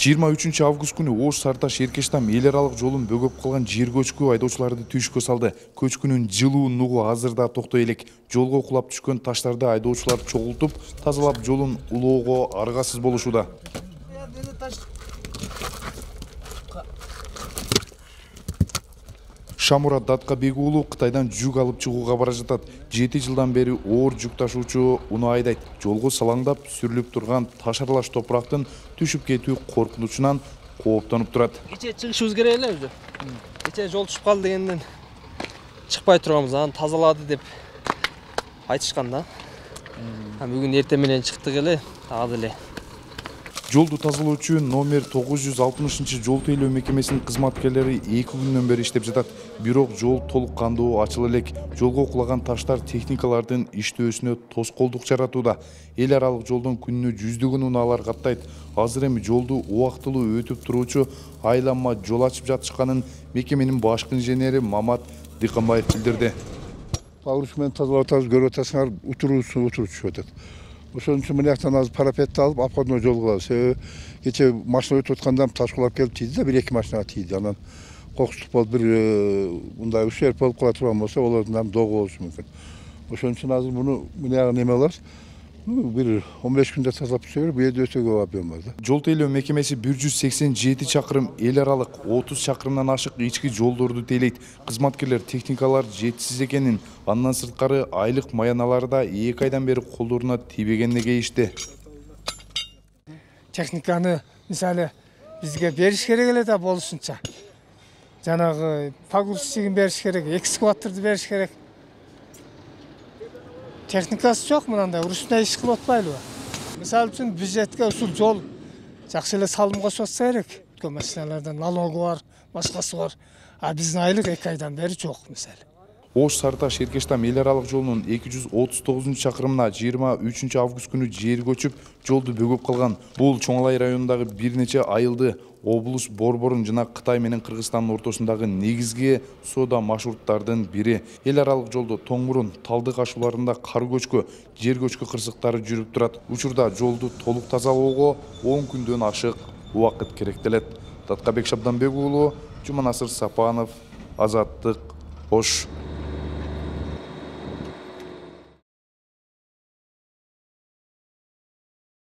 23 август күнү Ош Сарташ Эркештам эл аралык жолун бөгөп калган жер көчкү айдоочуларды түйшүккө салды. Көчкүнүн жылуу нугу азыр да токтой элек. Жолго кулап түшкөн таштарды айдоочулар чогултуп, тазалап жолун улоого аргасыз болушууда. Шамурат Даткабек уулу Кытайдан жүк алып чыгууга бара жатат. 7 жылдан бери оор жүк ташуучу уну айдайт. Жолго салаңдап сүрүлүп турган таш аралаш топурактын түшүп кетүү коркунучунан кооптонуп турат. Кече чыгышыбыз керек эле өзү. Кече жол түшүп калды дегенден чыкпай турганбыз, аны тазалады деп айтышкан да. Бүгүн эртең менен чыктык эле, дагы деле. Жолду тазалоочу номер 960 жол тейлөө мекемесинин кызматкерлери 2 күндөн бери иштеп жатат. Бирок жол толук кандуу ачыла элек. Жолго кулаган таштар техникалардын иштөөсүнө тоскоолдук жаратууда. Эл аралык жолдон күнүнө жүздөгөн унаалар каттайт. Азыр эми жолду убактылуу өтүп туруучу айланма жол ачып жатышканын мекеменин башкы инженери Мамат Дыканбаев билдирди. Багырыш менен тазалап атабыз, көрүп атасыңар, утуруп түшүп атат. Ошон үчүн мына жактан азыр парапетти алып, обходной жол кылабыз. Кече машина өтүп атканда таш кулап келип тийди да, 1-2 машинага тийди. Анан кокустук болуп, бир мындай ушерп болуп кала турган болсо, олордун догу болушу мүмкүн. Ошон үчүн азыр муну мына неме кылабыз. Бир 15 күндө тазалап түшөбүр, бу жерде өтө көп объем бар да. Жол тейлөө мекемеси 187 чакырым эл аралык 30 чакырымдан ашык ички жолдорду тейлейт. Кызматкерлер техникалар жетишсиз экенин, андан сырткары айлык маяналары да 2 айдан бери колдоруна тийбегенине кейишти. Техниканы мисалы бизге бериш керек эле да болушунча. Жанагы погрузчигин бериш керек, экскаваторду бериш керек. Техникасы жок, мынандай урушундай иш кылып атпайлыбы? Мисалы үчүн бюджетке ушул жол жакшы эле салым кошуп атса керек. Көп машиналардан налогу бар, башкасы бар. А биздин айлык 2 айдан бери жок мисалы. Ош Сарташ Эркештам эл аралык жолунун 239 чакырымына 23 август күнү жер көчүп, жолду бөгөп калган. Бул Чоңалай районундагы бир нече айылды облус Борборун жана Кытай менен Кыргызстандын ортосундагы негизги соода маршруттардын бири. Эл аралык жолдо Тоңмурун, Талдык ашууларында кар көчкү, жер көчкү кырсыктары жүрүп турат. Учурда жолду толук тазалоого 10 күндөн ашык убакыт керектелет. Даткабек Шабданбек уулу, Жуманасыр Сапанов, Азаттык, Ош.